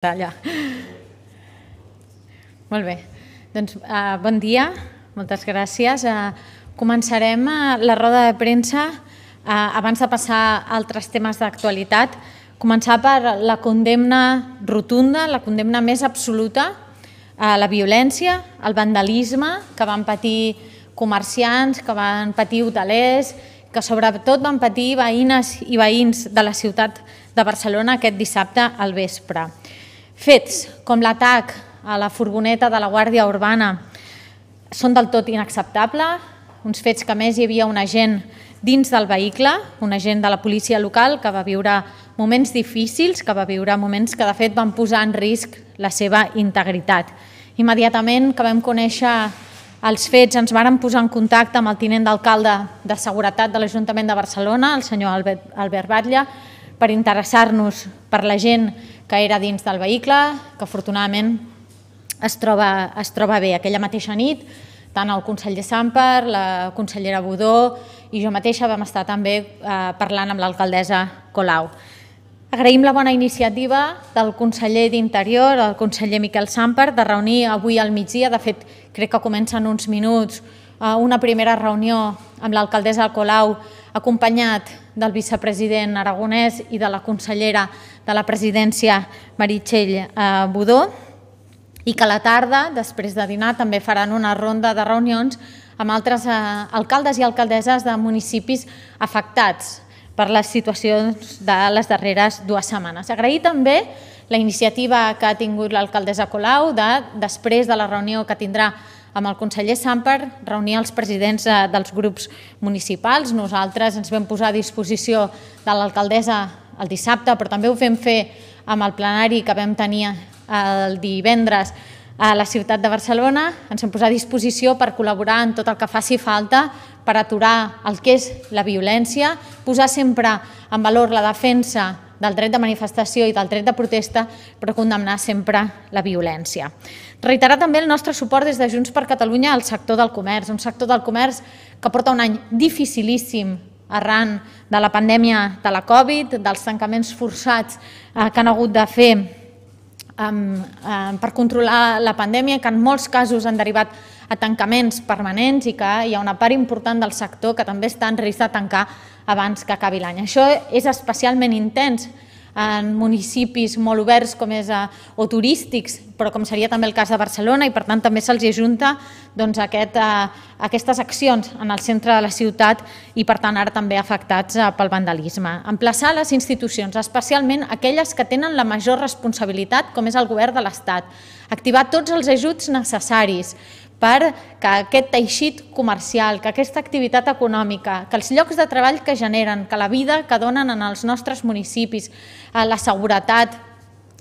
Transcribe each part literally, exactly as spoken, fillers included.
Allà. Molt bé, doncs uh, bon dia, moltes gràcies. Uh, començarem uh, la roda de premsa uh, abans de passar a altres temes d'actualitat. Començar per la condemna rotunda, la condemna més absoluta a la violència, al vandalisme que van patir comerciants, que van patir hotelers, que sobretot van patir veïnes i veïns de la ciutat de Barcelona aquest dissabte al vespre. Fets com l'atac a la furgoneta de la Guàrdia Urbana són del tot inacceptables, uns fets que a més hi havia un agent dins del vehicle, un agent de la policia local que va viure moments difícils, que va viure moments que de fet van posar en risc la seva integritat. Immediatament que vam conèixer els fets ens vàrem posar en contacte amb el tinent d'alcalde de Seguretat de l'Ajuntament de Barcelona, el senyor Albert, Albert Batlle, per interessar-nos per la gent que era dins del vehicle, que afortunadament es troba, es troba bé. Aquella mateixa nit, tant el conseller Samper, la consellera Budó i jo mateixa vam estar també eh, parlant amb l'alcaldessa Colau. Agraïm la bona iniciativa del conseller d'Interior, el conseller Miquel Samper, de reunir avui al migdia, de fet crec que comença en uns minuts, eh, una primera reunió amb l'alcaldessa Colau, acompanyat del vicepresident Aragonès i de la consellera de la presidència Meritxell Budó, i que a la tarda, després de dinar, també faran una ronda de reunions amb altres alcaldes i alcaldesses de municipis afectats per les situacions de les darreres dues setmanes. Agrair també la iniciativa que ha tingut l'alcaldessa Colau de, després de la reunió que tindrà amb el conseller Samper, reunir els presidents dels grups municipals. Nosaltres ens vam posar a disposició de l'alcaldessa el dissabte, però també ho vam fer amb el plenari que vam tenir el divendres a la ciutat de Barcelona. Ens vam posar a disposició per col·laborar en tot el que faci falta per aturar el que és la violència, posar sempre en valor la defensa del dret de manifestació i del dret de protesta, però condemnar sempre la violència. Reiterar també el nostre suport des de Junts per Catalunya al sector del comerç, un sector del comerç que porta un any dificilíssim arran de la pandèmia de la Covid, dels tancaments forçats que han hagut de fer per controlar la pandèmia, que en molts casos han derivat a tancaments permanents i que hi ha una part important del sector que també està en risc de tancar abans que acabi l'any. Això és especialment intens en municipis molt oberts com és, o turístics, però com seria també el cas de Barcelona, i per tant també se'ls ajunta doncs, aquest, aquestes accions en el centre de la ciutat i per tant ara també afectats pel vandalisme. Emplaçar les institucions, especialment aquelles que tenen la major responsabilitat, com és el govern de l'Estat, activar tots els ajuts necessaris per que aquest teixit comercial, que aquesta activitat econòmica, que els llocs de treball que generen, que la vida que donen en els nostres municipis, la seguretat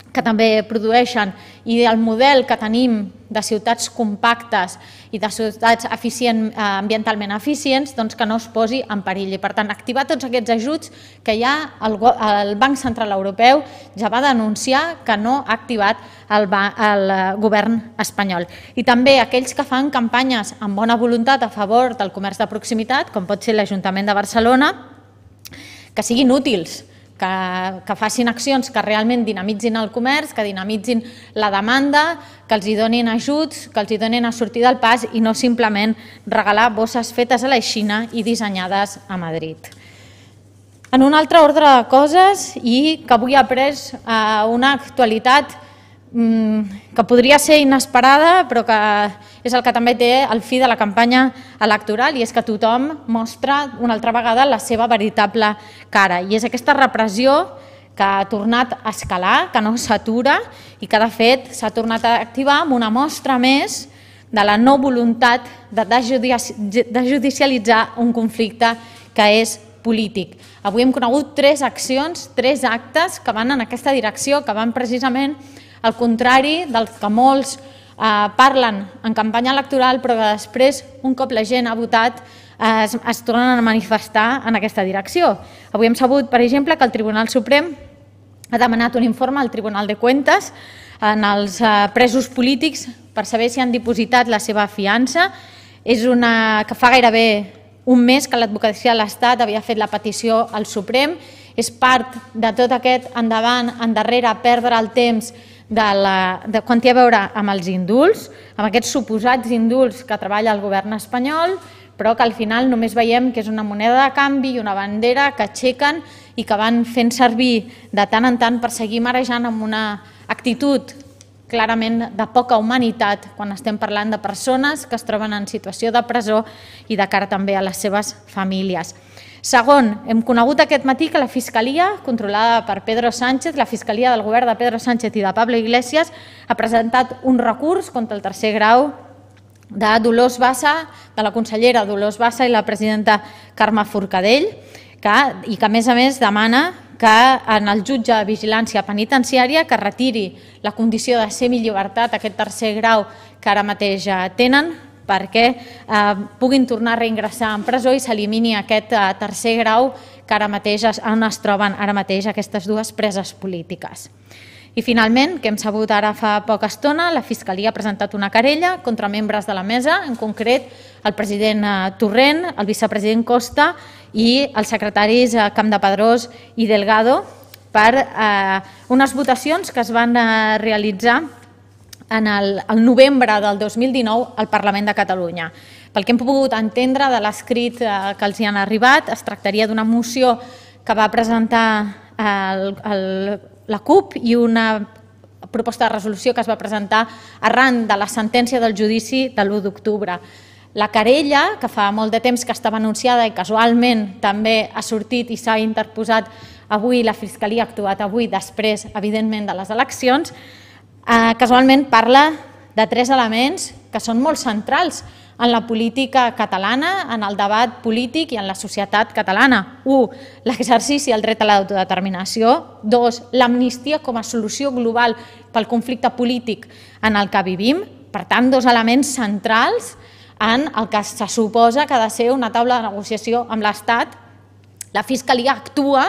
que també produeixen i el model que tenim de ciutats compactes i de ciutats ambientalment eficients, doncs que no es posi en perill. I per tant, activar tots aquests ajuts que ja el Banc Central Europeu ja va denunciar que no ha activat el govern espanyol. I també aquells que fan campanyes amb bona voluntat a favor del comerç de proximitat, com pot ser l'Ajuntament de Barcelona, que siguin útils, que facin accions que realment dinamitzin el comerç, que dinamitzin la demanda, que els hi donin ajuts, que els hi donin a sortir del pas i no simplement regalar bosses fetes a la Xina i dissenyades a Madrid. En un altre ordre de coses, i que avui ha pres una actualitat que podria ser inesperada, però que és el que també té el fi de la campanya electoral, i és que tothom mostra una altra vegada la seva veritable cara. I és aquesta repressió que ha tornat a escalar, que no s'atura i que de fet s'ha tornat a activar amb una mostra més de la no voluntat de judicialitzar un conflicte que és polític. Avui hem conegut tres accions, tres actes que van en aquesta direcció, que van precisament al contrari del que molts parlen en campanya electoral, però que després, un cop la gent ha votat, es tornen a manifestar en aquesta direcció. Avui hem sabut, per exemple, que el Tribunal Suprem ha demanat un informe al Tribunal de Cuentas en els presos polítics per saber si han dipositat la seva fiança. És una que fa gairebé un mes que l'advocacia de l'Estat havia fet la petició al Suprem. És part de tot aquest endavant, endarrere, perdre el temps de, la, de quan té a veure amb els indults, amb aquests suposats indults que treballa el govern espanyol, però que al final només veiem que és una moneda de canvi i una bandera que aixequen i que van fent servir de tant en tant per seguir marejant amb una actitud clarament de poca humanitat quan estem parlant de persones que es troben en situació de presó i de cara també a les seves famílies. Segon, hem conegut aquest matí que la Fiscalia, controlada per Pedro Sánchez, la Fiscalia del govern de Pedro Sánchez i de Pablo Iglesias, ha presentat un recurs contra el tercer grau de Dolors Bassa, de la consellera Dolors Bassa i la presidenta Carme Forcadell, que, i que a més a més demana que en el jutge de vigilància penitenciària que retiri la condició de semillibertat, aquest tercer grau que ara mateix tenen, perquè eh, puguin tornar a reingressar en presó i s'elimini aquest eh, tercer grau que ara mateix on es troben ara mateix aquestes dues preses polítiques. I finalment, que hem sabut ara fa poca estona, la Fiscalia ha presentat una querella contra membres de la mesa, en concret el president Torrent, el vicepresident Costa i els secretaris Campdepadrós i Delgado per eh, unes votacions que es van eh, realitzar en el, el novembre del dos mil dinou al Parlament de Catalunya. Pel que hem pogut entendre de l'escrit eh, que els hi han arribat, es tractaria d'una moció que va presentar el, el la CUP i una proposta de resolució que es va presentar arran de la sentència del judici de l'u d'octubre. La querella, que fa molt de temps que estava anunciada i casualment també ha sortit i s'ha interposat avui, la Fiscalia ha actuat avui després, evidentment, de les eleccions, eh, casualment parla de tres elements que són molt centrals en la política catalana, en el debat polític i en la societat catalana. Un, l'exercici del dret a l'autodeterminació. Dos, l'amnistia com a solució global pel conflicte polític en el que vivim. Per tant, dos elements centrals en el que se suposa que ha de ser una taula de negociació amb l'Estat. La Fiscalia actua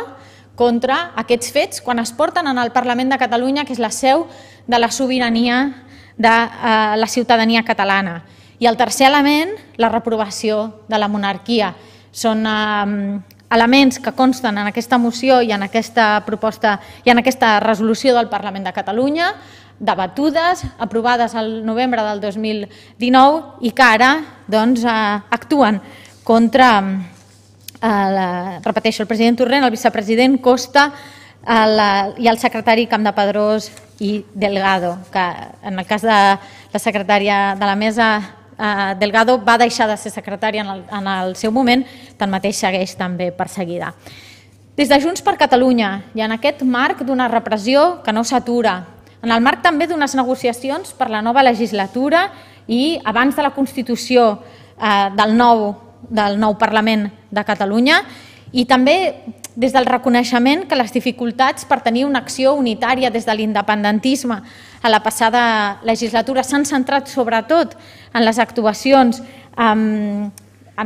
contra aquests fets quan es porten en el Parlament de Catalunya, que és la seu de la sobirania de la ciutadania catalana. I el tercer element, la reprovació de la monarquia. Són eh, elements que consten en aquesta moció i en aquesta proposta i en aquesta resolució del Parlament de Catalunya, debatudes, aprovades el novembre del dos mil dinou i que ara doncs, eh, actuen contra, eh, la, repeteixo, el president Torrent, el vicepresident Costa el, i el secretari Campdepadrós i Delgado, que en el cas de la secretària de la mesa, Delgado va deixar de ser secretària en el, en el seu moment, tanmateix segueix també perseguida. Des de Junts per Catalunya i en aquest marc d'una repressió que no s'atura, en el marc també d'unes negociacions per la nova legislatura i abans de la constitució eh, del, nou, del nou Parlament de Catalunya i també des del reconeixement que les dificultats per tenir una acció unitària des de l'independentisme a la passada legislatura s'han centrat sobretot en les actuacions en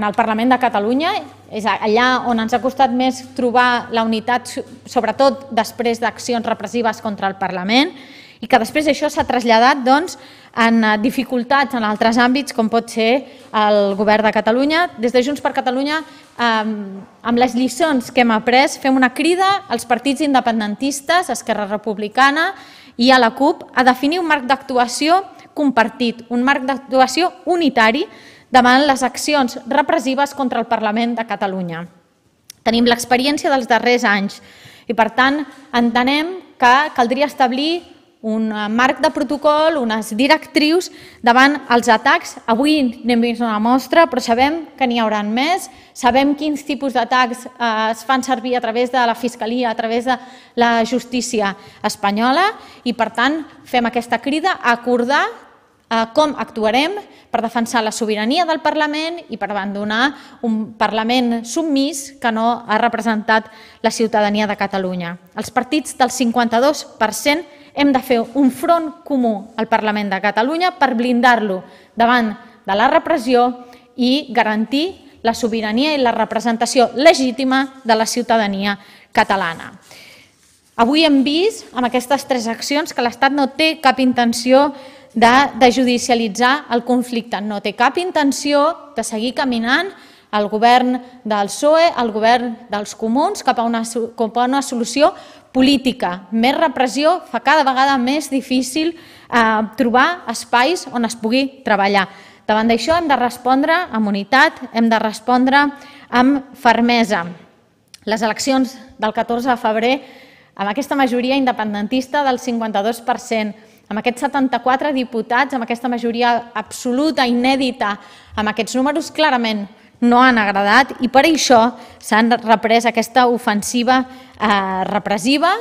el Parlament de Catalunya, és allà on ens ha costat més trobar la unitat, sobretot després d'accions repressives contra el Parlament, i que després això s'ha traslladat doncs, en dificultats en altres àmbits, com pot ser el govern de Catalunya. Des de Junts per Catalunya, amb les lliçons que hem après, fem una crida als partits independentistes, Esquerra Republicana i a la CUP, a definir un marc d'actuació compartit, un marc d'actuació unitari davant les accions repressives contra el Parlament de Catalunya. Tenim l'experiència dels darrers anys i, per tant, entenem que caldria establir un marc de protocol, unes directrius davant els atacs. Avui n'hem vist una mostra, però sabem que n'hi haurà més. Sabem quins tipus d'atacs es fan servir a través de la Fiscalia, a través de la justícia espanyola i, per tant, fem aquesta crida a acordar com actuarem per defensar la sobirania del Parlament i per abandonar un Parlament submís que no ha representat la ciutadania de Catalunya. Els partits del cinquanta-dos per cent hem de fer un front comú al Parlament de Catalunya per blindar-lo davant de la repressió i garantir la sobirania i la representació legítima de la ciutadania catalana. Avui hem vist amb aquestes tres accions que l'Estat no té cap intenció de, de judicialitzar el conflicte, no té cap intenció de seguir caminant el govern del P S O E, el govern dels comuns, cap a una, cap a una solució política, més repressió, fa cada vegada més difícil trobar espais on es pugui treballar. Davant d'això hem de respondre amb unitat, hem de respondre amb fermesa. Les eleccions del catorze de febrer, amb aquesta majoria independentista del cinquanta-dos per cent, amb aquests setanta-quatre diputats, amb aquesta majoria absoluta, inèdita, amb aquests números clarament no han agradat i per això s'han reprès aquesta ofensiva repressiva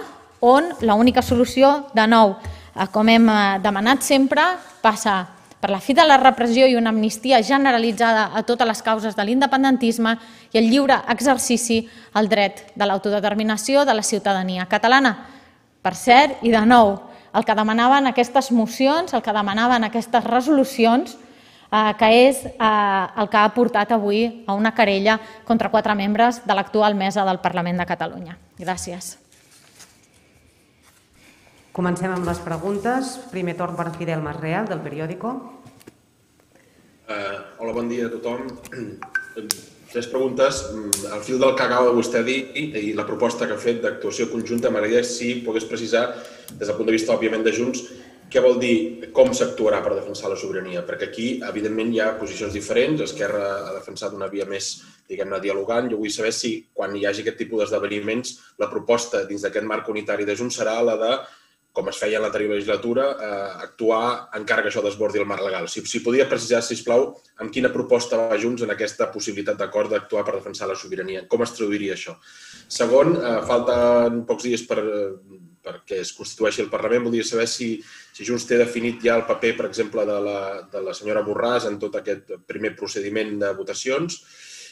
on l'única solució, de nou, com hem demanat sempre, passa per la fi de la repressió i una amnistia generalitzada a totes les causes de l'independentisme i el lliure exercici al dret de l'autodeterminació de la ciutadania catalana. Per cert, i de nou, el que demanaven aquestes mocions, el que demanaven aquestes resolucions, que és el que ha portat avui a una querella contra quatre membres de l'actual mesa del Parlament de Catalunya. Gràcies. Comencem amb les preguntes. Primer torn per Fidel Masreal, del Periódico. Hola, bon dia a tothom. Tres preguntes. Al fil del que acaba de vostè dir i la proposta que ha fet d'actuació conjunta, m'agradaria si pogués precisar, des del punt de vista, òbviament, de Junts, què vol dir com s'actuarà per defensar la sobirania? Perquè aquí, evidentment, hi ha posicions diferents. Esquerra ha defensat una via més, diguem-ne, dialogant. Jo vull saber si, quan hi hagi aquest tipus d'esdeveniments, la proposta dins d'aquest marc unitari de Junts serà la de, com es feia en l'anterior legislatura, actuar encara que això desbordi el marc legal. Si podria precisar, sisplau, amb quina proposta va Junts en aquesta possibilitat d'acord d'actuar per defensar la sobirania. Com es traduiria això? Segon, falten pocs dies perquè es constitueixi el Parlament. Voldria saber si Junts té definit ja el paper, per exemple, de la senyora Borràs en tot aquest primer procediment de votacions.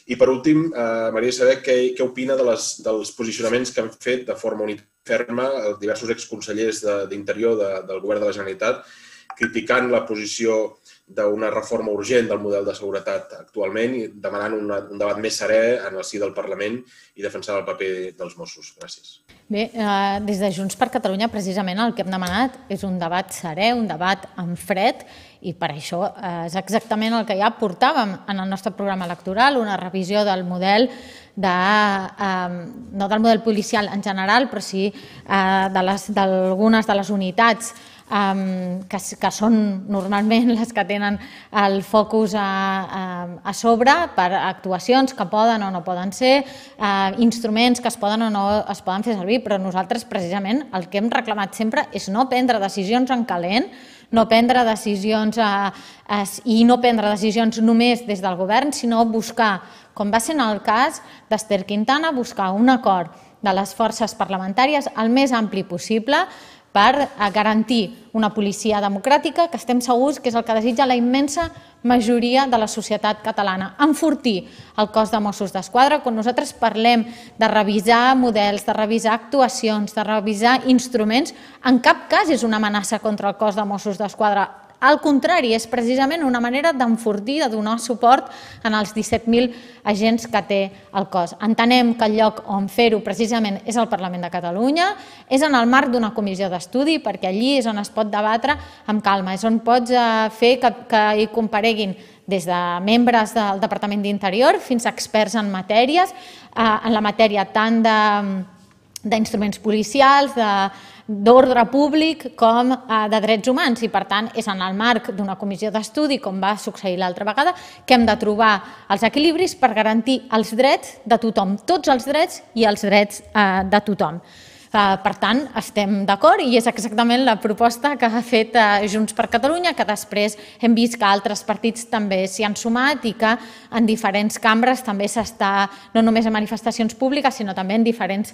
I, per últim, m'agradaria saber què opina dels posicionaments que han fet de forma ferma els diversos exconsellers d'Interior del Govern de la Generalitat, criticant la posició d'una reforma urgent del model de seguretat actualment i demanant un debat més serè en el si del Parlament i defensant el paper dels Mossos. Gràcies. Bé, des de Junts per Catalunya, precisament el que hem demanat és un debat serè, un debat en fred, i per això és exactament el que ja portàvem en el nostre programa electoral, una revisió del model, no del model policial en general, però sí d'algunes de les unitats que són normalment les que tenen el focus a sobre per actuacions que poden o no poden ser, instruments que es poden o no es poden fer servir, però nosaltres precisament el que hem reclamat sempre és no prendre decisions en calent, no prendre decisions i no prendre decisions només des del govern, sinó buscar, com va ser en el cas d'Ester Quintana, buscar un acord de les forces parlamentàries el més ampli possible per garantir una policia democràtica que estem segurs que és el que desitja la immensa majoria de la societat catalana. Enfortir el cos de Mossos d'Esquadra. Quan nosaltres parlem de revisar models, de revisar actuacions, de revisar instruments, en cap cas és una amenaça contra el cos de Mossos d'Esquadra. Al contrari, és precisament una manera d'enfortir, de donar suport en els disset mil agents que té el cos. Entenem que el lloc on fer-ho precisament és el Parlament de Catalunya, és en el marc d'una comissió d'estudi, perquè allí és on es pot debatre amb calma, és on pots fer que hi compareguin des de membres del Departament d'Interior fins a experts en matèries, en la matèria tant d'instruments policials, d'ordre públic com de drets humans i, per tant, és en el marc d'una comissió d'estudi, com va succeir l'altra vegada, que hem de trobar els equilibris per garantir els drets de tothom, tots els drets i els drets de tothom. Per tant, estem d'acord i és exactament la proposta que ha fet Junts per Catalunya, que després hem vist que altres partits també s'hi han sumat i que en diferents cambres també s'està, no només en manifestacions públiques, sinó també en diferents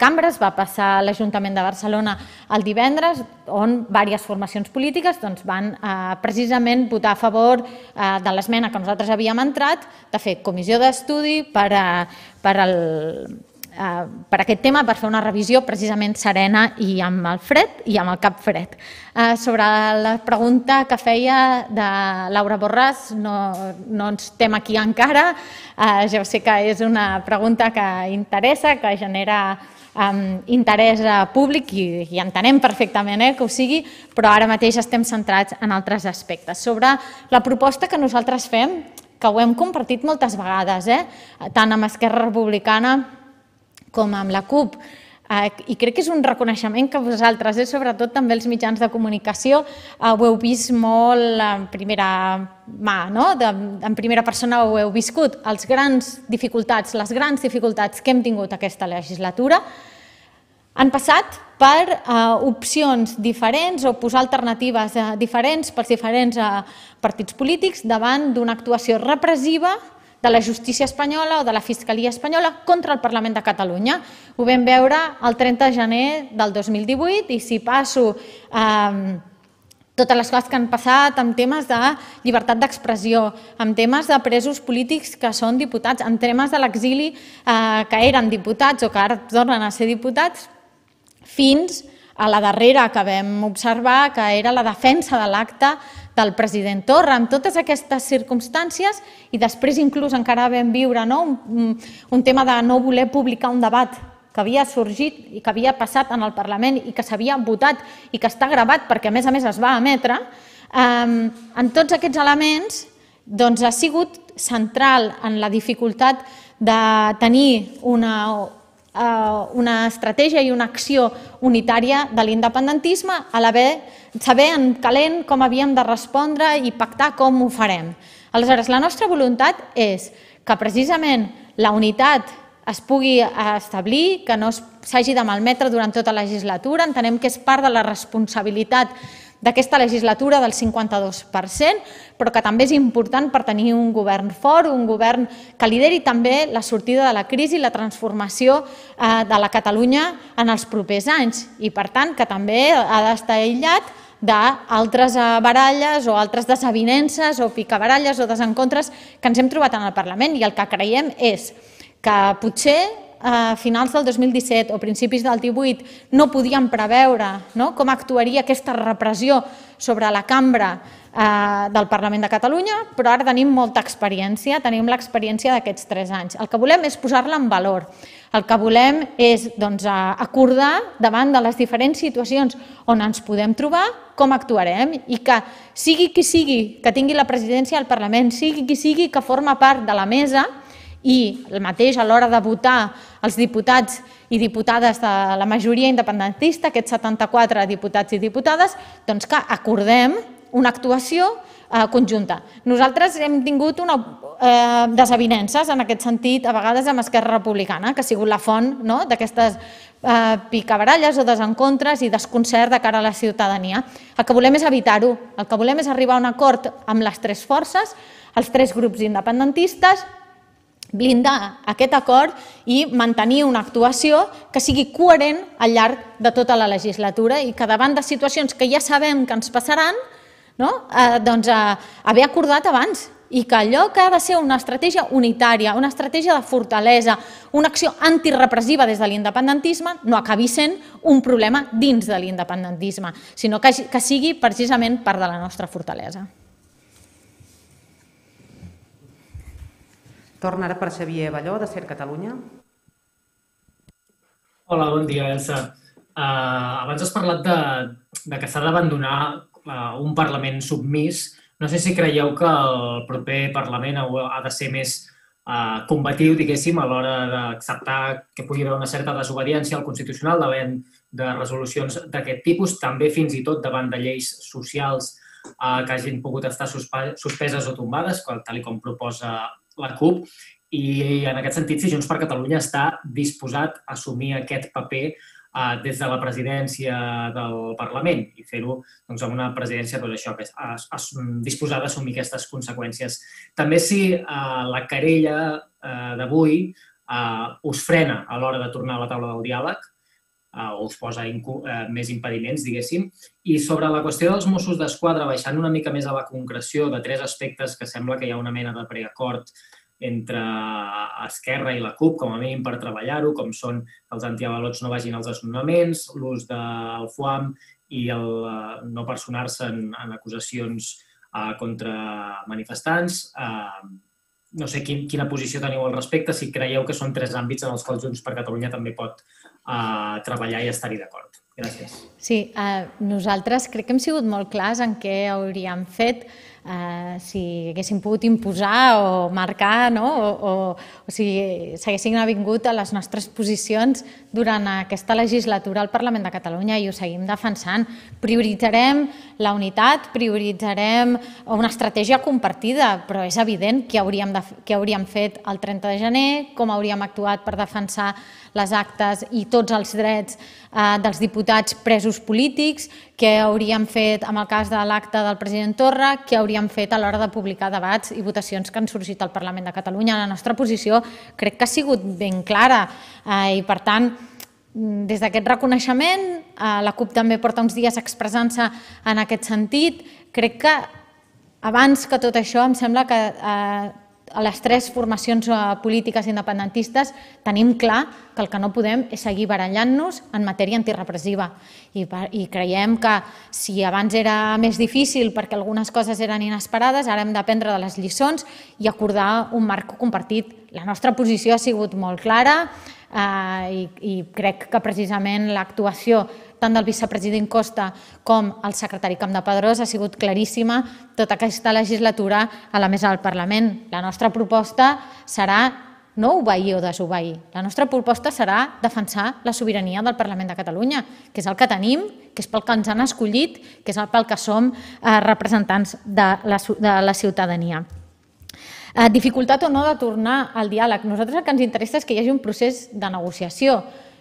cambres. Va passar a l'Ajuntament de Barcelona el divendres, on diverses formacions polítiques van precisament votar a favor de l'esmena que nosaltres havíem entrat, de fer comissió d'estudi per al per aquest tema, per fer una revisió precisament serena i amb el fred i amb el cap fred. Sobre la pregunta que feia de Laura Borràs, no ens estem aquí encara, ja sé que és una pregunta que interessa, que genera interès públic i entenem perfectament que ho sigui, però ara mateix estem centrats en altres aspectes. Sobre la proposta que nosaltres fem, que ho hem compartit moltes vegades, tant amb Esquerra Republicana com amb la CUP, I crec que és un reconeixement que vosaltres, sobretot també els mitjans de comunicació, ho heu vist molt en primera mà, en primera persona ho heu viscut. Les grans dificultats, les grans dificultats que hem tingut aquesta legislatura han passat per opcions diferents o posar alternatives diferents pels diferents partits polítics davant d'una actuació repressiva de la justícia espanyola o de la Fiscalia espanyola contra el Parlament de Catalunya. Ho vam veure el trenta de gener del dos mil divuit i si passo totes les coses que han passat amb temes de llibertat d'expressió, amb temes de presos polítics que són diputats, amb temes de l'exili que eren diputats o que ara tornen a ser diputats, fins a la darrera que vam observar, que era la defensa de l'acte del president Torra, amb totes aquestes circumstàncies, i després inclús encara vam viure un tema de no voler publicar un debat que havia sorgit i que havia passat en el Parlament i que s'havia votat i que està gravat perquè a més a més es va emetre. En tots aquests elements ha sigut central en la dificultat de tenir una una estratègia i una acció unitària de l'independentisme, a saber en calent com havíem de respondre i pactar com ho farem. Aleshores, la nostra voluntat és que precisament la unitat es pugui establir, que no s'hagi de malmetre durant tota la legislatura. Entenem que és part de la responsabilitat d'aquesta legislatura del cinquanta-dos per cent, però que també és important per tenir un govern fort, un govern que lideri també la sortida de la crisi i la transformació de la Catalunya en els propers anys i, per tant, que també ha d'estar aïllat d'altres baralles o altres desavinences o picabaralles o desencontres que ens hem trobat en el Parlament. I el que creiem és que potser a finals del dos mil disset o principis del divuit no podíem preveure com actuaria aquesta repressió sobre la cambra del Parlament de Catalunya, però ara tenim molta experiència, tenim l'experiència d'aquests tres anys. El que volem és posar-la en valor. El que volem és acordar davant de les diferents situacions on ens podem trobar com actuarem i que sigui qui sigui que tingui la presidència del Parlament, sigui qui sigui que forma part de la mesa, i el mateix a l'hora de votar els diputats i diputades de la majoria independentista, aquests setanta-quatre diputats i diputades, doncs que acordem una actuació conjunta. Nosaltres hem tingut desavinences en aquest sentit, a vegades amb Esquerra Republicana, que ha sigut la font d'aquestes picabaralles o desencontres i desconcert de cara a la ciutadania. El que volem és evitar-ho, el que volem és arribar a un acord amb les tres forces, els tres grups independentistes, blindar aquest acord i mantenir una actuació que sigui coherent al llarg de tota la legislatura i que davant de situacions que ja sabem que ens passaran, doncs haver acordat abans i que allò que ha de ser una estratègia unitària, una estratègia de fortalesa, una acció antirepressiva des de l'independentisme no acabi sent un problema dins de l'independentisme, sinó que sigui precisament part de la nostra fortalesa. Torna ara per Xavier Balló, de Ser Catalunya. Hola, bon dia, Elsa. Abans has parlat que s'ha d'abandonar un Parlament submís. No sé si creieu que el proper Parlament ha de ser més combatiu, diguéssim, a l'hora d'acceptar que pugui haver una certa desobediència al Constitucional davant de resolucions d'aquest tipus, també fins i tot davant de lleis socials que hagin pogut estar suspeses o tombades, tal com proposa la CUP, i en aquest sentit, si Junts per Catalunya està disposat a assumir aquest paper des de la presidència del Parlament i fer-ho amb una presidència disposada a assumir aquestes conseqüències. També si la querella d'avui us frena a l'hora de tornar a la taula del diàleg o us posa més impediments, diguéssim. I sobre la qüestió dels Mossos d'Esquadra, baixant una mica més a la concreció de tres aspectes que sembla que hi ha una mena de preacord entre Esquerra i la CUP, com a mínim per treballar-ho, com són que els antiavalots no vagin als desnonaments, l'ús del FUAM i el no personar-se en acusacions contra manifestants. No sé quina posició teniu al respecte, si creieu que són tres àmbits en els quals Junts per Catalunya també pot a treballar i estar-hi d'acord. Gràcies. Sí, nosaltres crec que hem sigut molt clars en què hauríem fet si haguéssim pogut imposar o marcar, o si s'haguessin avingut a les nostres posicions durant aquesta legislatura al Parlament de Catalunya, i ho seguim defensant. Prioritzarem la unitat, prioritzarem una estratègia compartida, però és evident què hauríem fet el trenta de gener, com hauríem actuat per defensar les actes i tots els drets dels diputats presos polítics, què hauríem fet amb el cas de l'acte del president Torra, què hauríem fet a l'hora de publicar debats i votacions que han sorgit al Parlament de Catalunya. La nostra posició crec que ha sigut ben clara i, per tant, des d'aquest reconeixement, la CUP també porta uns dies expressant-se en aquest sentit. Crec que abans que tot això em sembla que a les tres formacions polítiques independentistes tenim clar que el que no podem és seguir barallant-nos en matèria antirepressiva, i creiem que si abans era més difícil perquè algunes coses eren inesperades, ara hem d'aprendre de les lliçons i acordar un marc compartit. La nostra posició ha sigut molt clara i crec que precisament l'actuació tant del vicepresident Costa com el secretari Campdepadrós ha sigut claríssima tota aquesta legislatura a la mesa del Parlament. La nostra proposta serà no obeir o desobeir. La nostra proposta serà defensar la sobirania del Parlament de Catalunya, que és el que tenim, que és pel que ens han escollit, que és pel que som representants de la ciutadania. Dificultat o no de tornar al diàleg. Nosaltres el que ens interessa és que hi hagi un procés de negociació,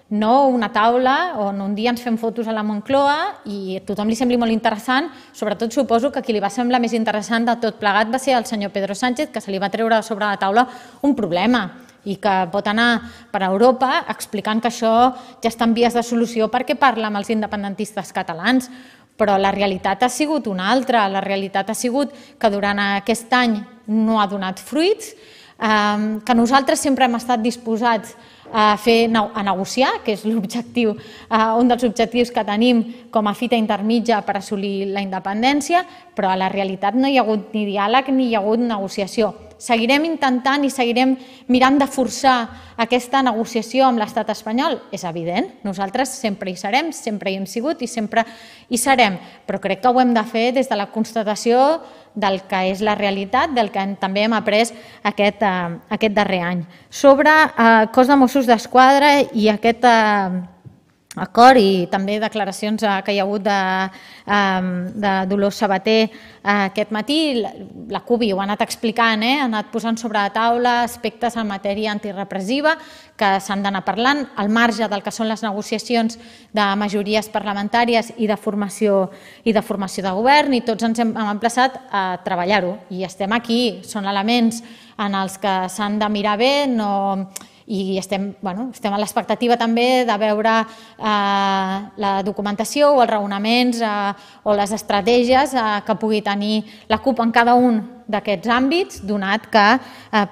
no una taula on un dia ens fem fotos a la Moncloa i a tothom li sembli molt interessant. Sobretot suposo que qui li va semblar més interessant de tot plegat va ser el senyor Pedro Sánchez, que se li va treure sobre la taula un problema i que pot anar per Europa explicant que això ja està en vies de solució perquè parla amb els independentistes catalans. Però la realitat ha sigut una altra. La realitat ha sigut que durant aquest any no ha donat fruits, que nosaltres sempre hem estat disposats a fer a negociar, que és l'objectiu, un dels objectius que tenim com a fita intermitja per assolir la independència, però a la realitat no hi ha hagut ni diàleg ni hi ha hagut negociació. Seguirem intentant i seguirem mirant de forçar aquesta negociació amb l'estat espanyol? És evident, nosaltres sempre hi serem, sempre hi hem sigut i sempre hi serem, però crec que ho hem de fer des de la constatació del que és la realitat, del que també hem après aquest darrer any. Sobre el cos de Mossos d'Esquadra i aquest acord i també declaracions que hi ha hagut de Dolors Sabater aquest matí, la CUP ho ha anat explicant, ha anat posant sobre la taula aspectes en matèria antirepressiva que s'han d'anar parlant al marge del que són les negociacions de majories parlamentàries i de formació de govern, i tots ens hem emplaçat a treballar-ho i estem aquí. Són elements en els que s'han de mirar bé i estem a l'expectativa també de veure la documentació o els raonaments o les estratègies que pugui tenir la CUP en cada un d'aquests àmbits, donat que,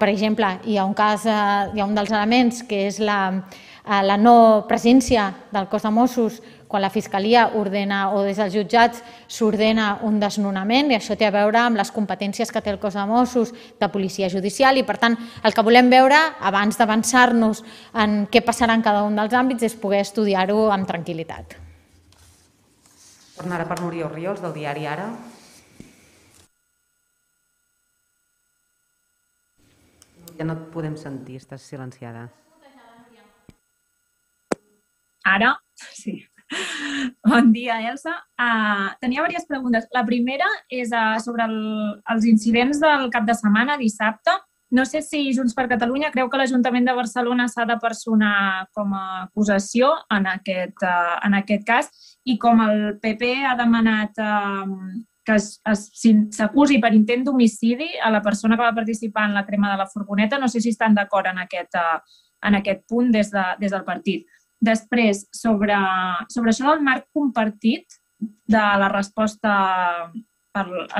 per exemple, hi ha un cas, hi ha un dels elements que és la no presència del cos de Mossos quan la Fiscalia ordena o des dels jutjats s'ordena un desnonament, i això té a veure amb les competències que té el cos de Mossos de policia judicial, i per tant el que volem veure abans d'avançar-nos en què passarà en cada un dels àmbits és poder estudiar-ho amb tranquil·litat. Tornarà per Núria Orriols, del diari Ara. Ja no et podem sentir, estàs silenciada. Ara? Sí. Bon dia, Elsa. Tenia diverses preguntes. La primera és sobre els incidents del cap de setmana, dissabte. No sé si Junts per Catalunya creu que l'Ajuntament de Barcelona s'ha de personar com a acusació en aquest cas, i com el P P ha demanat que s'acusi per intent d'homicidi a la persona que va participar en la crema de la furgoneta. No sé si estan d'acord en aquest punt des del partit. Després, sobre això del marc compartit de la resposta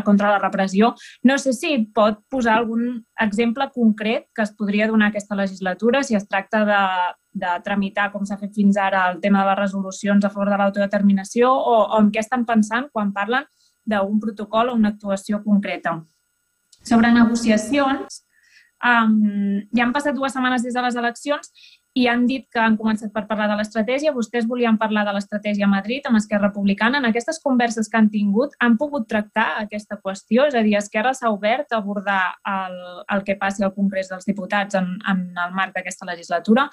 contra la repressió, no sé si pot posar algun exemple concret que es podria donar aquesta legislatura, si es tracta de tramitar, com s'ha fet fins ara, el tema de les resolucions a favor de l'autodeterminació, o en què estan pensant quan parlen d'un protocol o una actuació concreta. Sobre negociacions, ja han passat dues setmanes des de les eleccions i han dit que han començat per parlar de l'estratègia. Vostès volien parlar de l'estratègia a Madrid amb Esquerra Republicana. En aquestes converses que han tingut han pogut tractar aquesta qüestió? És a dir, Esquerra s'ha obert a abordar el, el que passi al Congrés dels Diputats en, en el marc d'aquesta legislatura?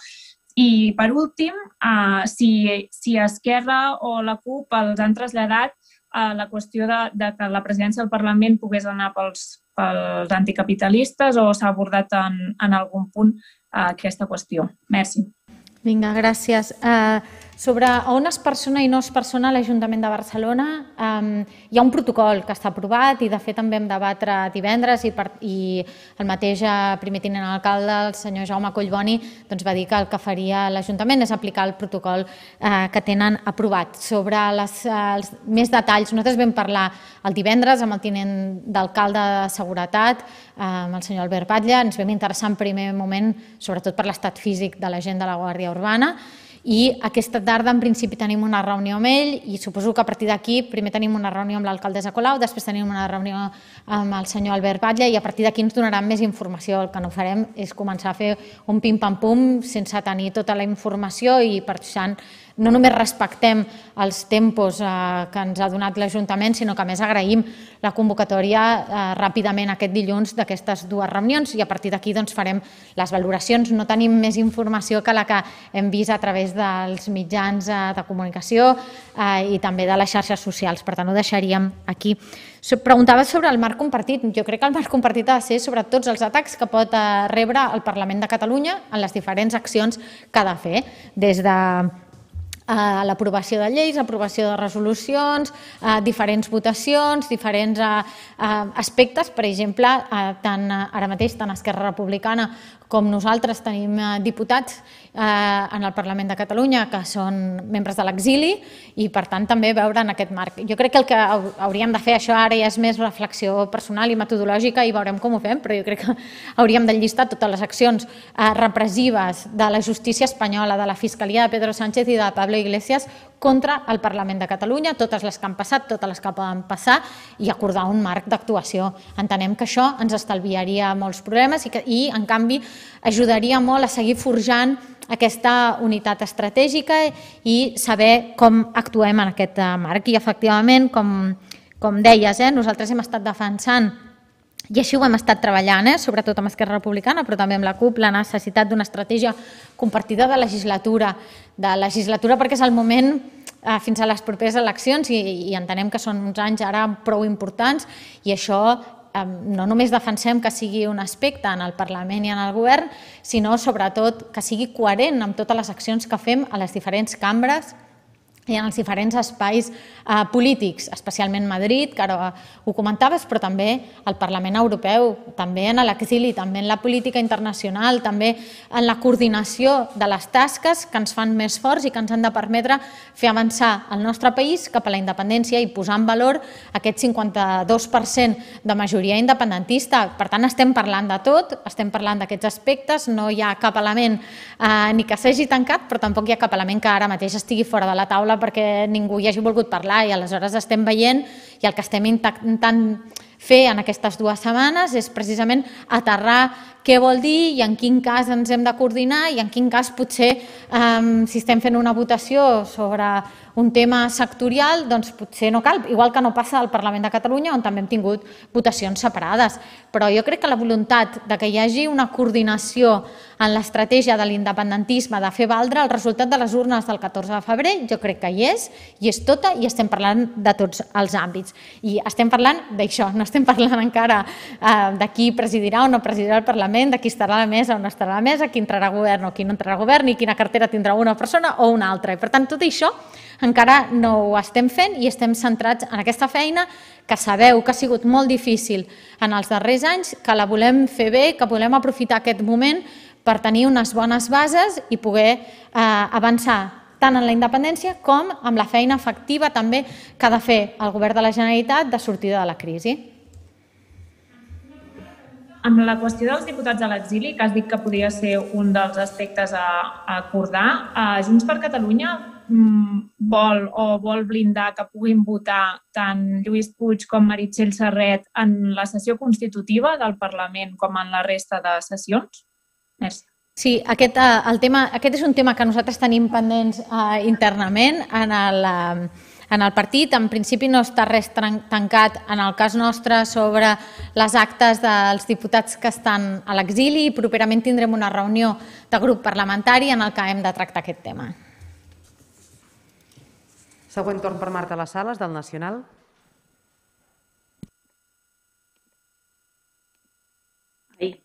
I, per últim, uh, si, si Esquerra o la CUP els han traslladat uh, la qüestió de, de que la presidència del Parlament pogués anar pels, pels anticapitalistes o s'ha abordat en, en algun punt aquesta qüestió. Merci. Vinga, gràcies. Uh, sobre on es persona i no es persona l'Ajuntament de Barcelona, um, hi ha un protocol que està aprovat i de fet també vam debatre divendres i, per, i el mateix primer tinent alcalde, el senyor Jaume Collboni, doncs va dir que el que faria l'Ajuntament és aplicar el protocol uh, que tenen aprovat. Sobre les, uh, els més detalls, nosaltres vam parlar el divendres amb el tinent d'alcalde de Seguretat, uh, amb el senyor Albert Batlle, ens vam interessar en primer moment sobretot per l'estat físic de la gent de la Guàrdia Urbana, i aquesta tarda en principi tenim una reunió amb ell i suposo que a partir d'aquí primer tenim una reunió amb l'alcaldessa Colau, després tenim una reunió amb el senyor Albert Batlle i a partir d'aquí ens donaran més informació. El que no farem és començar a fer un pim-pam-pum sense tenir tota la informació i per tant no només respectem els tempos que ens ha donat l'Ajuntament, sinó que a més agraïm la convocatòria ràpidament aquest dilluns d'aquestes dues reunions i a partir d'aquí farem les valoracions. No tenim més informació que la que hem vist a través dels mitjans de comunicació i també de les xarxes socials, per tant ho deixaríem aquí. Preguntava sobre el marc compartit. Jo crec que el marc compartit ha de ser sobre tots els atacs que pot rebre el Parlament de Catalunya en les diferents accions que ha de fer, des de l'aprovació de lleis, aprovació de resolucions, diferents votacions, diferents aspectes. Per exemple, tant ara mateix, tant Esquerra Republicana com nosaltres tenim diputats en el Parlament de Catalunya que són membres de l'exili i, per tant, també veure en aquest marc. Jo crec que el que hauríem de fer, això ara ja és més reflexió personal i metodològica i veurem com ho fem, però jo crec que hauríem d'enllistar totes les accions repressives de la justícia espanyola, de la Fiscalia de Pedro Sánchez i de Pablo Iglesias contra el Parlament de Catalunya, totes les que han passat, totes les que poden passar i acordar un marc d'actuació. Entenem que això ens estalviaria molts problemes i, que, i en canvi, ajudaria molt a seguir forjant aquesta unitat estratègica i saber com actuem en aquest marc. I, efectivament, com, com deies, eh, nosaltres hem estat defensant i així ho hem estat treballant, eh? sobretot amb Esquerra Republicana, però també amb la CUP, la necessitat d'una estratègia compartida de legislatura, de legislatura perquè és el moment eh, fins a les properes eleccions i, i entenem que són uns anys ara prou importants i això eh, no només defensem que sigui un aspecte en el Parlament i en el Govern, sinó sobretot que sigui coherent amb totes les accions que fem a les diferents cambres i en els diferents espais eh, polítics, especialment Madrid, que ara ho comentaves, però també al Parlament Europeu, també en l'exili, també en la política internacional, també en la coordinació de les tasques que ens fan més forts i que ens han de permetre fer avançar el nostre país cap a la independència i posar en valor aquest cinquanta-dos per cent de majoria independentista. Per tant, estem parlant de tot, estem parlant d'aquests aspectes, no hi ha cap element eh, ni que s'hagi tancat, però tampoc hi ha cap element que ara mateix estigui fora de la taula perquè ningú hi hagi volgut parlar i aleshores estem veient i el que estem intentant fer en aquestes dues setmanes és precisament aterrar què vol dir i en quin cas ens hem de coordinar i en quin cas potser si estem fent una votació sobre un tema sectorial doncs potser no cal, igual que no passa al Parlament de Catalunya on també hem tingut votacions separades. Però jo crec que la voluntat de que hi hagi una coordinació en l'estratègia de l'independentisme de fer valdre el resultat de les urnes del catorze de febrer jo crec que hi és, i és tota i estem parlant de tots els àmbits. I estem parlant d'això, no estem parlant encara de qui presidirà o no presidirà el Parlament, de qui estarà a la mesa o no estarà a la mesa, qui entrarà a govern o qui no entrarà a govern, ni quina cartera tindrà una persona o una altra. I per tant, tot això encara no ho estem fent i estem centrats en aquesta feina que sabeu que ha sigut molt difícil en els darrers anys, que la volem fer bé, que volem aprofitar aquest moment per tenir unes bones bases i poder eh, avançar tant en la independència com amb la feina efectiva també que ha de fer el Govern de la Generalitat de sortida de la crisi. Amb la qüestió dels diputats a l'exili, que has dit que podria ser un dels aspectes a, a acordar, Junts per Catalunya vol o vol blindar que puguin votar tant Lluís Puig com Meritxell Serret en la sessió constitutiva del Parlament com en la resta de sessions? Merci. Sí, aquest, el tema, aquest és un tema que nosaltres tenim pendents eh, internament en el, en el partit. En principi no està res tancat en el cas nostre sobre les actes dels diputats que estan a l'exili i properament tindrem una reunió de grup parlamentari en el que hem de tractar aquest tema. Següent torn per Marta Les Sales, del Nacional. Ai.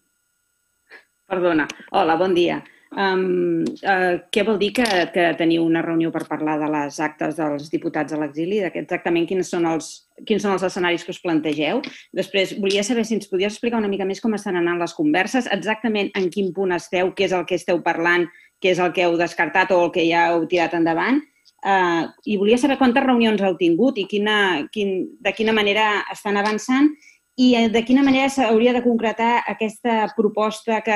Perdona. Hola, bon dia. Um, uh, què vol dir que, que teniu una reunió per parlar de les actes dels diputats a l'exili? Exactament quins són, els, quins són els escenaris que us plantegeu? Després, volia saber si ens podies explicar una mica més com estan anant les converses, exactament en quin punt esteu, què és el que esteu parlant, què és el que heu descartat o el que ja heu tirat endavant. Uh, I volia saber quantes reunions heu tingut i quina, quin, de quina manera estan avançant i de quina manera s'hauria de concretar aquesta proposta que,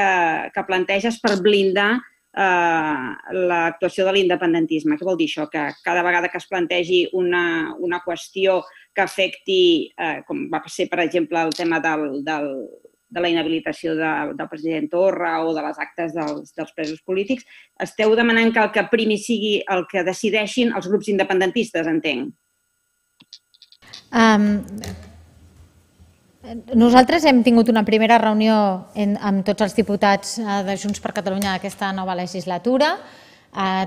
que planteges per blindar eh, l'actuació de l'independentisme. Què vol dir això? Que cada vegada que es plantegi una, una qüestió que afecti, eh, com va ser, per exemple, el tema del, del, de la inhabilitació de, del president Torra o de les actes dels, dels presos polítics, esteu demanant que el que primi sigui el que decideixin els grups independentistes, entenc? Um... Nosaltres hem tingut una primera reunió amb tots els diputats de Junts per Catalunya d'aquesta nova legislatura.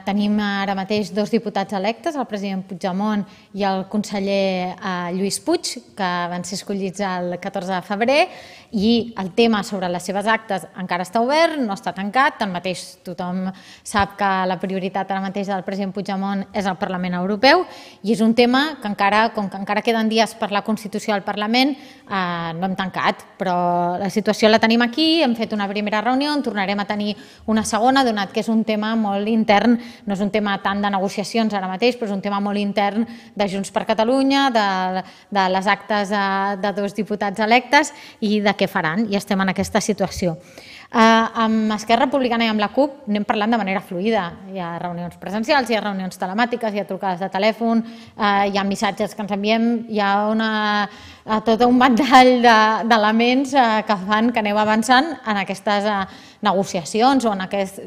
Tenim ara mateix dos diputats electes, el president Puigdemont i el conseller Lluís Puig, que van ser escollits el catorze de febrer, i el tema sobre les seves actes encara està obert, no està tancat. Tanmateix tothom sap que la prioritat ara mateix del president Puigdemont és el Parlament Europeu i és un tema que encara, com que encara queden dies per la Constitució del Parlament, no hem tancat, però la situació la tenim aquí, hem fet una primera reunió, en tornarem a tenir una segona, donat que és un tema molt intern. No és un tema tant de negociacions ara mateix, però és un tema molt intern de Junts per Catalunya, de, de les actes de, de dos diputats electes i de què faran, i estem en aquesta situació. Eh, amb Esquerra Republicana i amb la CUP anem parlant de manera fluida. Hi ha reunions presencials, hi ha reunions telemàtiques, hi ha trucades de telèfon, eh, hi ha missatges que ens enviem, hi ha una, eh, tot un ventall d'elements eh, que fan que aneu avançant en aquestes eh, negociacions o en aquest...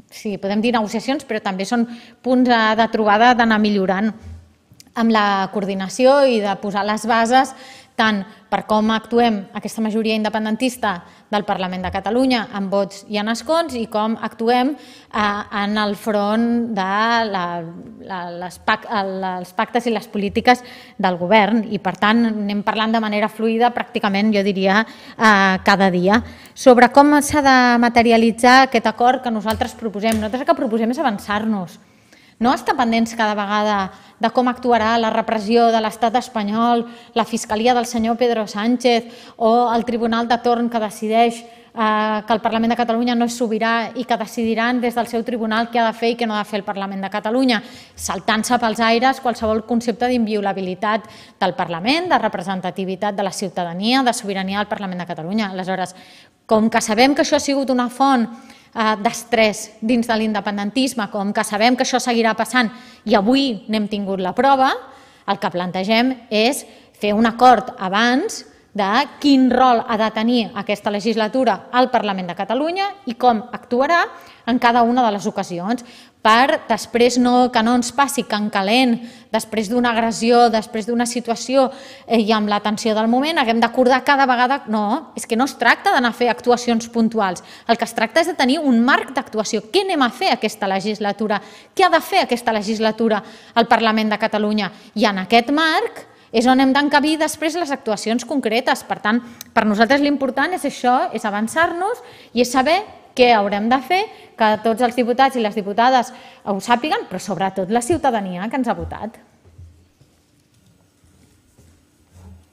Sí, podem dir negociacions, però també són punts de trobada d'anar millorant amb la coordinació i de posar les bases tant per com actuem aquesta majoria independentista del Parlament de Catalunya en vots i en escons i com actuem en el front dels pactes i les polítiques del govern. I, per tant, anem parlant de manera fluida pràcticament, jo diria, cada dia. Sobre com s'ha de materialitzar aquest acord que nosaltres proposem. Nosaltres el que proposem és avançar-nos. No estar pendents cada vegada de com actuarà la repressió de l'estat espanyol, la fiscalia del senyor Pedro Sánchez o el tribunal de torn que decideix que el Parlament de Catalunya no és sobirà i que decidiran des del seu tribunal què ha de fer i què no ha de fer el Parlament de Catalunya, saltant-se pels aires qualsevol concepte d'inviolabilitat del Parlament, de representativitat de la ciutadania, de sobirania del Parlament de Catalunya. Aleshores, com que sabem que això ha sigut una font d'estrès dins de l'independentisme, com que sabem que això seguirà passant i avui n'hem tingut la prova, el que plantegem és fer un acord abans de quin rol ha de tenir aquesta legislatura al Parlament de Catalunya i com actuarà en cada una de les ocasions, per després que no ens passi que en calent, després d'una agressió, després d'una situació i amb la tensió del moment, haguem d'acordar cada vegada... No, és que no es tracta d'anar a fer actuacions puntuals. El que es tracta és de tenir un marc d'actuació. Què anem a fer aquesta legislatura? Què ha de fer aquesta legislatura al Parlament de Catalunya? I en aquest marc és on hem d'encabir després les actuacions concretes. Per tant, per nosaltres l'important és això, és avançar-nos i és saber què haurem de fer, que tots els diputats i les diputades ho sàpiguen, però sobretot la ciutadania que ens ha votat.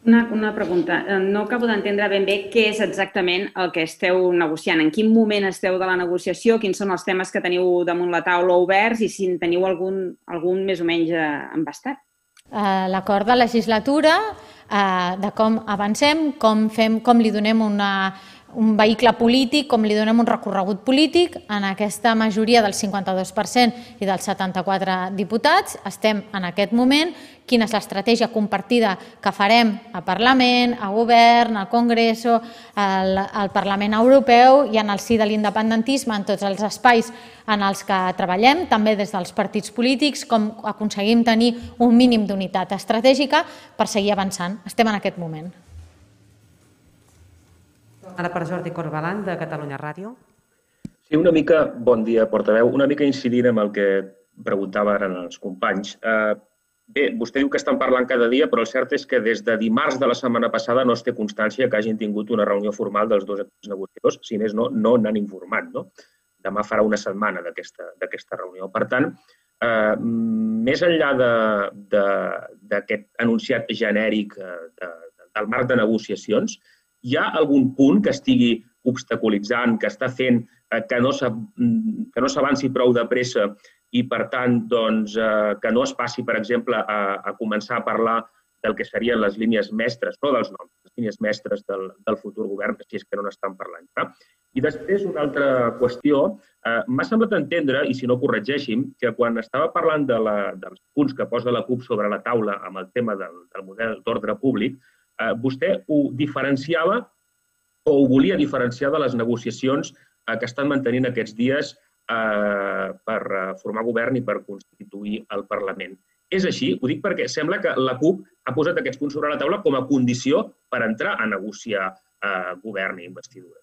Una, una pregunta. No acabo d'entendre ben bé què és exactament el que esteu negociant. En quin moment esteu de la negociació? Quins són els temes que teniu damunt la taula oberts i si en teniu algun, algun més o menys embastat? L'acord de legislatura, de com avancem, com, fem, com li donem una, un vehicle polític, com li donem un recorregut polític, en aquesta majoria del cinquanta-dos per cent i dels setanta-quatre diputats, estem en aquest moment, quina és l'estratègia compartida que farem a Parlament, a Govern, al Congreso, al, al Parlament Europeu i en el si de l'independentisme, en tots els espais en els que treballem, també des dels partits polítics, com aconseguim tenir un mínim d'unitat estratègica per seguir avançant. Estem en aquest moment. Ara per Jordi Corbalan, de Catalunya Ràdio. Sí, una mica, bon dia, portaveu, una mica incidint amb el que preguntava ara els companys. Bé, vostè diu que estan parlant cada dia, però el cert és que des de dimarts de la setmana passada no es té constància que hagin tingut una reunió formal dels dos negociadors, si més no, no n'han informat. No? Demà farà una setmana d'aquesta reunió. Per tant, eh, més enllà d'aquest enunciat genèric de, del marc de negociacions, hi ha algun punt que estigui obstaculitzant, que està fent que no s'avanci prou de pressa i, per tant, doncs, que no es passi, per exemple, a, a començar a parlar del que serien les línies mestres, no dels noms, les línies mestres del, del futur govern, si és que no n'estan parlant. No? I després, una altra qüestió, eh, m'ha semblat entendre, i si no corregeixi'm, que quan estava parlant de la, dels punts que posa la CUP sobre la taula amb el tema del, del model d'ordre públic, eh, vostè ho diferenciava o ho volia diferenciar de les negociacions eh, que estan mantenint aquests dies eh, per formar govern i per constituir el Parlament. És així? Ho dic perquè sembla que la CUP ha posat aquests punts sobre la taula com a condició per entrar a negociar eh, govern i investidura.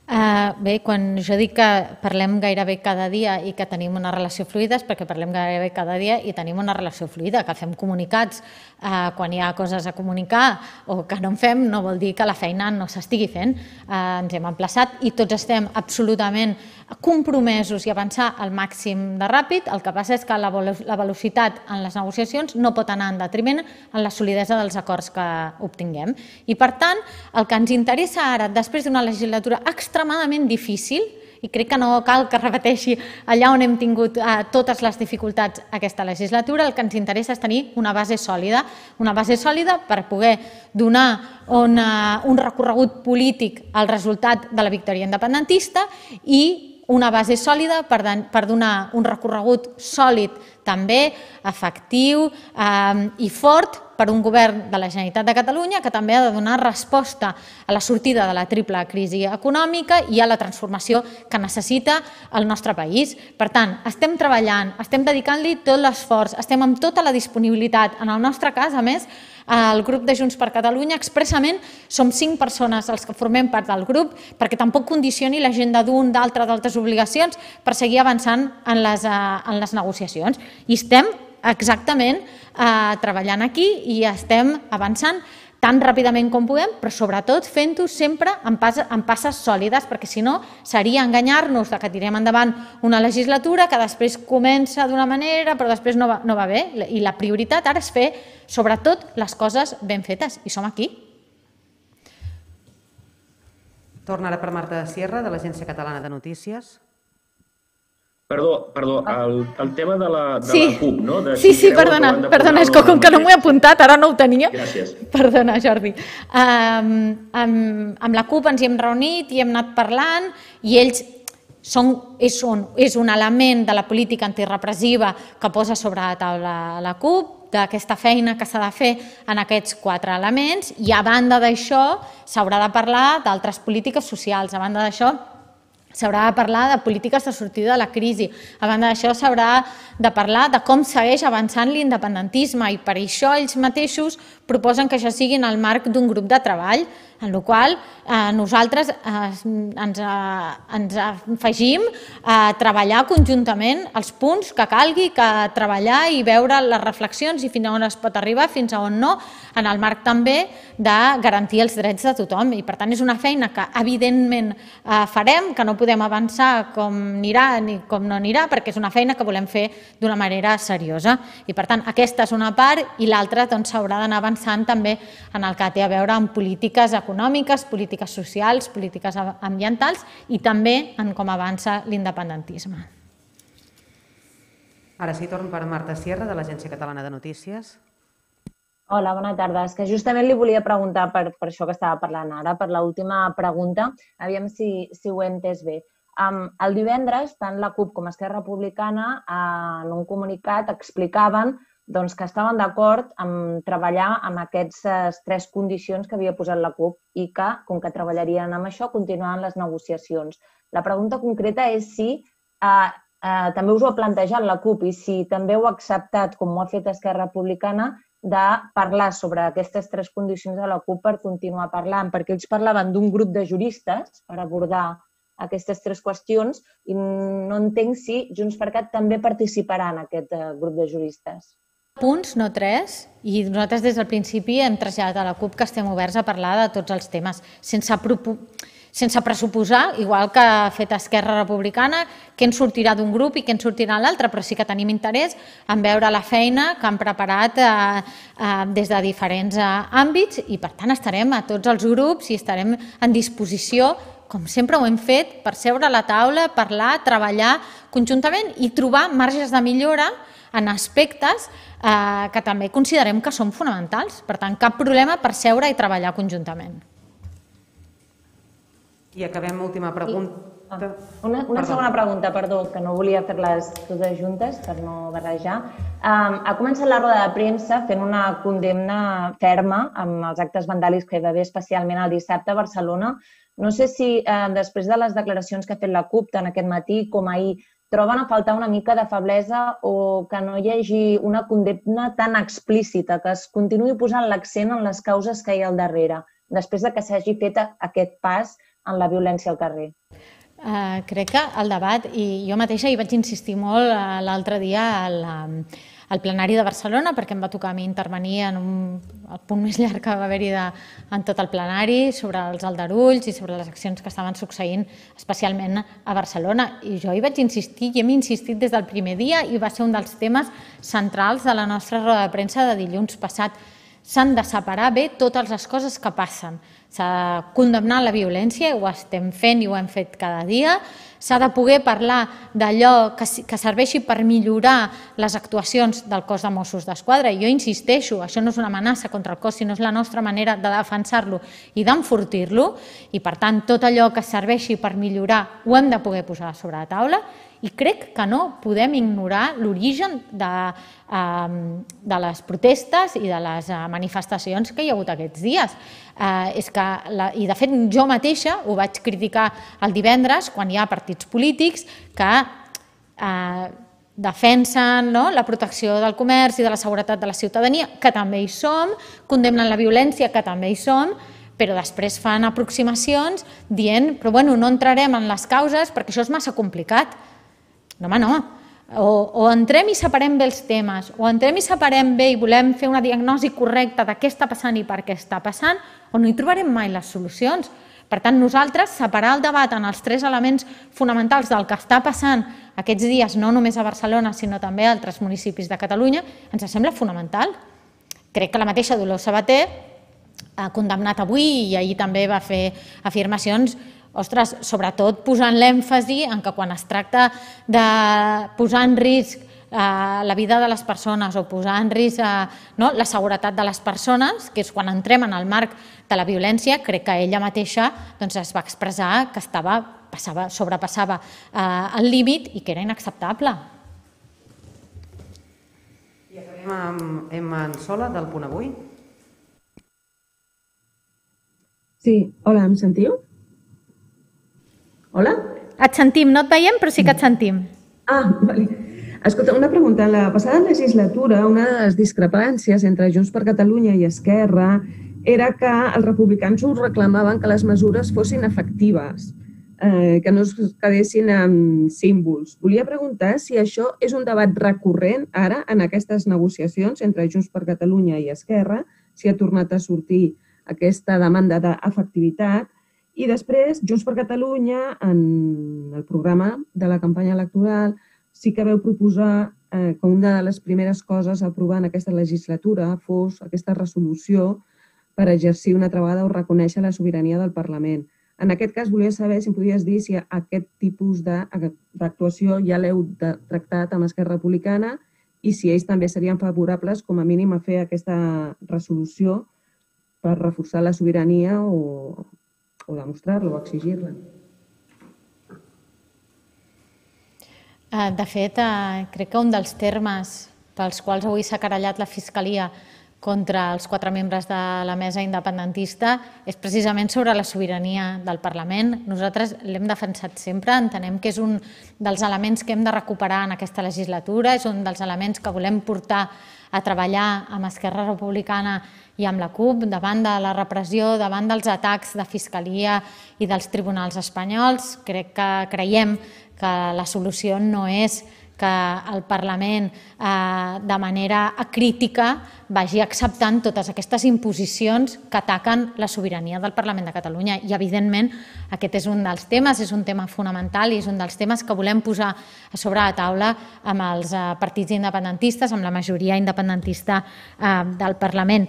Uh, bé, quan jo dic que parlem gairebé cada dia i que tenim una relació fluida és perquè parlem gairebé cada dia i tenim una relació fluida, que fem comunicats uh, quan hi ha coses a comunicar o que no en fem, no vol dir que la feina no s'estigui fent. Uh, ens hem emplaçat i tots estem absolutament compromesos i avançar al màxim de ràpid. El que passa és que la, la velocitat en les negociacions no pot anar en detriment en la solidesa dels acords que obtinguem. I, per tant, el que ens interessa ara, després d'una legislatura extremadament difícil, i crec que no cal que repeteixi allà on hem tingut eh, totes les dificultats aquesta legislatura, el que ens interessa és tenir una base sòlida, una base sòlida per poder donar una, un recorregut polític al resultat de la victòria independentista i una base sòlida per, per donar un recorregut sòlid també, efectiu eh, i fort per un govern de la Generalitat de Catalunya que també ha de donar resposta a la sortida de la triple crisi econòmica i a la transformació que necessita el nostre país. Per tant, estem treballant, estem dedicant-li tot l'esforç, estem amb tota la disponibilitat. En el nostre cas, a més, el grup de Junts per Catalunya, expressament, som cinc persones els que formem part del grup perquè tampoc condicioni l'agenda d'un, d'altre, d'altres obligacions per seguir avançant en les, en les negociacions. I estem exactament eh, treballant aquí i estem avançant tan ràpidament com puguem, però sobretot fent-ho sempre en, pas, en passes sòlides, perquè si no seria enganyar-nos que tirem endavant una legislatura que després comença d'una manera però després no va, no va bé. I la prioritat ara és fer sobretot les coses ben fetes i som aquí. Torna ara per Marta Sierra, de l'Agència Catalana de Notícies. Perdó, perdó, el, el tema de la, de sí. la CUP, no? De sí, sí, perdona, perdona, és que com que no m'ho he apuntat, ara no ho tenia. Gràcies. Perdona, Jordi. Um, amb, amb la CUP ens hi hem reunit i hem anat parlant i ells són, és, un, és un element de la política antirepressiva que posa sobre la taula la CUP, d'aquesta feina que s'ha de fer en aquests quatre elements i a banda d'això s'haurà de parlar d'altres polítiques socials, a banda d'això s'haurà de parlar de polítiques de sortida de la crisi. A banda d'això, s'haurà de parlar de com segueix avançant l'independentisme i per això ells mateixos proposen que això sigui en el marc d'un grup de treball, en el qual eh, nosaltres eh, ens, eh, ens afegim a treballar conjuntament els punts que calgui, que treballar i veure les reflexions i fins a on es pot arribar, fins a on no, en el marc també de garantir els drets de tothom. I per tant és una feina que evidentment eh, farem, que no podem avançar com anirà ni com no anirà, perquè és una feina que volem fer d'una manera seriosa. I per tant aquesta és una part i l'altra doncs, s'haurà d'anar avançant també en el que té a veure amb polítiques econòmiques, polítiques socials, polítiques ambientals i també en com avança l'independentisme. Ara sí, torn per Marta Sierra, de l'Agència Catalana de Notícies. Hola, bona tarda. És que justament li volia preguntar per, per això que estava parlant ara, per l'última pregunta, aviam si, si ho he entès bé. Um, el divendres, tant la CUP com Esquerra Republicana, uh, en un comunicat explicaven doncs, que estaven d'acord en treballar amb aquestes tres condicions que havia posat la CUP i que, com que treballarien amb això, continuaven les negociacions. La pregunta concreta és si uh, uh, també us ho ha plantejat la CUP i si també ho ha acceptat, com ho ha fet Esquerra Republicana, de parlar sobre aquestes tres condicions de la CUP per continuar parlant, perquè ells parlaven d'un grup de juristes per abordar aquestes tres qüestions i no entenc si JxCat també participarà en aquest grup de juristes. Punts, no tres, i nosaltres des del principi hem traslladat a la CUP que estem oberts a parlar de tots els temes, sense sense pressuposar, igual que ha fet Esquerra Republicana, què en sortirà d'un grup i què en sortirà l'altre, però sí que tenim interès en veure la feina que han preparat eh, eh, des de diferents eh, àmbits i, per tant, estarem a tots els grups i estarem en disposició, com sempre ho hem fet, per seure a la taula, parlar, treballar conjuntament i trobar marges de millora en aspectes eh, que també considerem que són fonamentals. Per tant, cap problema per seure i treballar conjuntament. I acabem última pregunta. Ah, una, una segona pregunta, perdó, que no volia fer-les totes juntes per no barrejar. Um, ha començat la roda de premsa fent una condemna ferma amb els actes vandàlics que hi va haver especialment el dissabte a Barcelona. No sé si eh, després de les declaracions que ha fet la CUP tant aquest matí com ahir troben a faltar una mica de feblesa o que no hi hagi una condemna tan explícita, que es continuï posant l'accent en les causes que hi ha al darrere, després de que s'hagi fet aquest pas en la violència al carrer. Uh, crec que el debat, i jo mateixa hi vaig insistir molt uh, l'altre dia al, um, al plenari de Barcelona, perquè em va tocar a mi intervenir en un, el punt més llarg que va haver-hi en tot el plenari sobre els aldarulls i sobre les accions que estaven succeint especialment a Barcelona. I jo hi vaig insistir i hem insistit des del primer dia i va ser un dels temes centrals de la nostra roda de premsa de dilluns passat. S'han de separar bé totes les coses que passen. S'ha de condemnar la violència, ho estem fent i ho hem fet cada dia. S'ha de poder parlar d'allò que, que serveixi per millorar les actuacions del cos de Mossos d'Esquadra. I jo insisteixo, això no és una amenaça contra el cos, sinó és la nostra manera de defensar-lo i d'enfortir-lo. I, per tant, tot allò que serveixi per millorar ho hem de poder posar sobre la taula. I crec que no podem ignorar l'origen de, eh, de les protestes i de les manifestacions que hi ha hagut aquests dies. Eh, és que, la, i de fet jo mateixa ho vaig criticar el divendres quan hi ha partits polítics que eh, defensen no, la protecció del comerç i de la seguretat de la ciutadania, que també hi som, condemnen la violència, que també hi som, però després fan aproximacions dient però bueno, no entrarem en les causes perquè això és massa complicat. No, home, no. O, o entrem i separem bé els temes, o entrem i separem bé i volem fer una diagnosi correcta de què està passant i per què està passant, o no hi trobarem mai les solucions. Per tant, nosaltres, separar el debat en els tres elements fonamentals del que està passant aquests dies, no només a Barcelona, sinó també a altres municipis de Catalunya, ens sembla fonamental. Crec que la mateixa Dolors Sabater ha condemnat avui i ahir també va fer afirmacions, ostres, sobretot posant l'èmfasi en que quan es tracta de posar en risc la vida de les persones o posar en risc la seguretat de les persones, que és quan entrem en el marc de la violència, crec que ella mateixa es va expressar que sobrepassava el límit i que era inacceptable. I acabem amb Emma Ansola, del Punt Avui. Sí, hola, em sentiu? Hola? Et sentim, no et veiem, però sí que et sentim. Ah, vale. Escolta, una pregunta. En la passada legislatura, una de les discrepàncies entre Junts per Catalunya i Esquerra era que els republicans us reclamaven que les mesures fossin efectives, eh, que no es quedessin amb símbols. Volia preguntar si això és un debat recurrent ara en aquestes negociacions entre Junts per Catalunya i Esquerra, si ha tornat a sortir aquesta demanda d'efectivitat. I després, Junts per Catalunya, en el programa de la campanya electoral, sí que veu proposar eh, que una de les primeres coses a aprovar en aquesta legislatura fos aquesta resolució per exercir una altra vegada o reconèixer la sobirania del Parlament. En aquest cas, volia saber si em podies dir si aquest tipus d'actuació ja l'heu tractat amb Esquerra Republicana i si ells també serien favorables com a mínim a fer aquesta resolució per reforçar la sobirania o, o demostrar-la o exigir-la. De fet, crec que un dels termes pels quals avui s'ha querellat la Fiscalia contra els quatre membres de la mesa independentista és precisament sobre la sobirania del Parlament. Nosaltres l'hem defensat sempre, entenem que és un dels elements que hem de recuperar en aquesta legislatura, és un dels elements que volem portar a treballar amb Esquerra Republicana i amb la CUP davant de la repressió, davant dels atacs de Fiscalia i dels tribunals espanyols. Crec que creiem que la solució no és que el Parlament de manera acrítica vagi acceptant totes aquestes imposicions que ataquen la sobirania del Parlament de Catalunya. I, evidentment, aquest és un dels temes, és un tema fonamental i és un dels temes que volem posar a sobre la taula amb els partits independentistes, amb la majoria independentista del Parlament.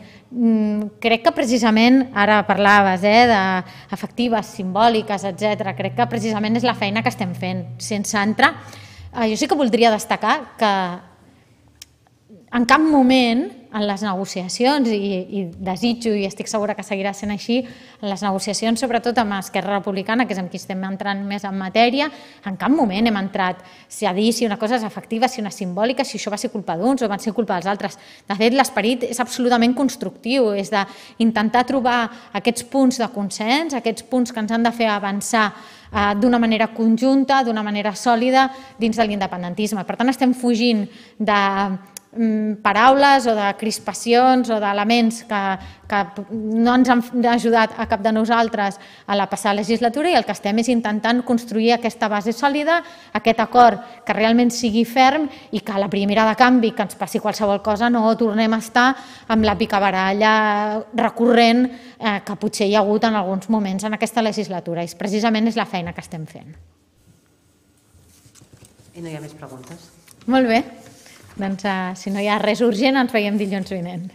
Crec que precisament, ara parlaves d'efectives, simbòliques, etcètera, crec que precisament és la feina que estem fent. Sense entrar... Jo sí que voldria destacar que en cap moment en les negociacions, i desitjo i estic segura que seguirà sent així, en les negociacions, sobretot amb Esquerra Republicana, que és amb qui estem entrant més en matèria, en cap moment hem entrat a dir si una cosa és efectiva, si una és simbòlica, si això va ser culpa d'uns o va ser culpa dels altres. De fet, l'esperit és absolutament constructiu, és d'intentar trobar aquests punts de consens, aquests punts que ens han de fer avançar d'una manera conjunta, d'una manera sòlida dins de l'independentisme. Per tant, estem fugint de paraules o de crispacions o d'elements que no ens han ajudat a cap de nosaltres a la passada legislatura, i el que estem és intentant construir aquesta base sòlida, aquest acord que realment sigui ferm i que a la primera de canvi que ens passi qualsevol cosa no tornem a estar amb la picabaralla recurrent que potser hi ha hagut en alguns moments en aquesta legislatura. I precisament és la feina que estem fent. I no hi ha més preguntes? Molt bé. Doncs, si no hi ha res urgent, ens veiem dilluns vinent.